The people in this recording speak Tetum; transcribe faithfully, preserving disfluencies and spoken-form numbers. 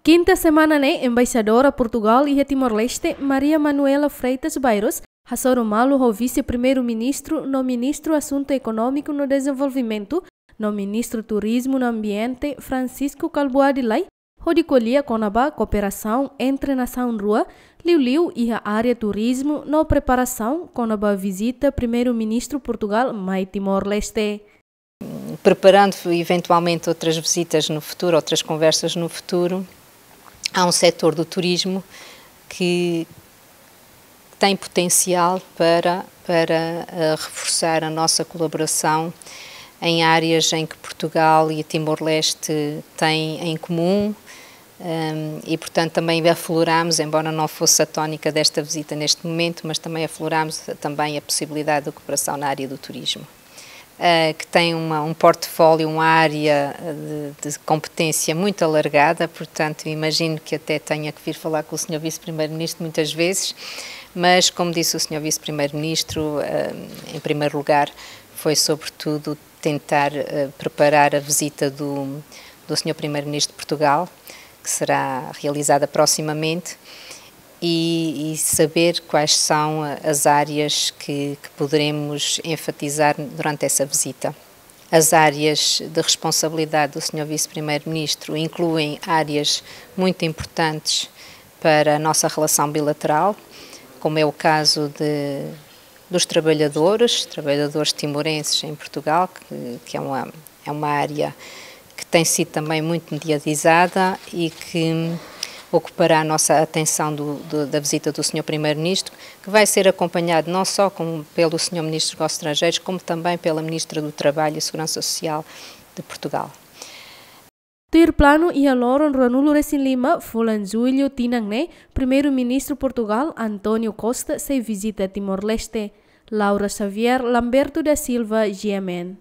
Kinta semana ne'e, Embaixadora Portugal iha Timor-Leste, Maria Manuela Freitas Bairros, hasoru malu ho Vise-Primeiru-Ministru no Ministru Asuntu Ekonómiku no Dezenvolvimentu, no Ministru Turizmu no Ambiente, Francisco Kalbuadi Lay, hodi ko'alia kona-ba kooperasaun entre nasaun rua, liuliu iha área turizmu no preparasaun kona-ba vizita Primeiru-Ministru Portugal mai Timor-Leste. Preparando eventualmente outras visitas no futuro, outras conversas no futuro, há um setor do turismo que tem potencial para, para, eh, reforçar a nossa colaboração em áreas em que Portugal e Timor-Leste têm em comum, ehm, e, portanto, também afloramos, embora não fosse a tónica desta visita neste momento, mas também afloramos também a possibilidade de cooperação na área do turismo. Eh, que tem uma, um portfólio, uma área, eh, de, de competência muito alargada, portanto, imagino que até tenha que vir falar com o senhor Vice-Primeiro-Ministro muitas vezes, mas, como disse o senhor Vice-Primeiro-Ministro, eh, em primeiro lugar, foi sobretudo tentar, eh, preparar a visita do, do senhor Primeiro-Ministro de Portugal, que será realizada proximamente, e, e saber quais são, eh, as áreas que, que poderemos enfatizar durante essa visita. As áreas de responsabilidade do senhor Vice-Primeiro-Ministro incluem áreas muito importantes para a nossa relação bilateral, como é o caso de, dos trabalhadores, trabalhadores timorenses em Portugal, que, que é uma, é uma área que tem sido também muito mediatizada e que ocupará a nossa atenção do, do, da visita do senhor Primeiro-Ministro, que vai ser acompanhado não só com, pelo senhor Ministro dos Negócios Estrangeiros, como também pela Ministra do Trabalho e Segurança Social de Portugal. Tuir planu, iha loron ruanulu-resin-lima fulan Jullu tinan ne'e, Primeiru-Ministru Portugal, António Costa, sei vizita Timor-Leste. Laura Xavier, Lamberto da Silva, G M N.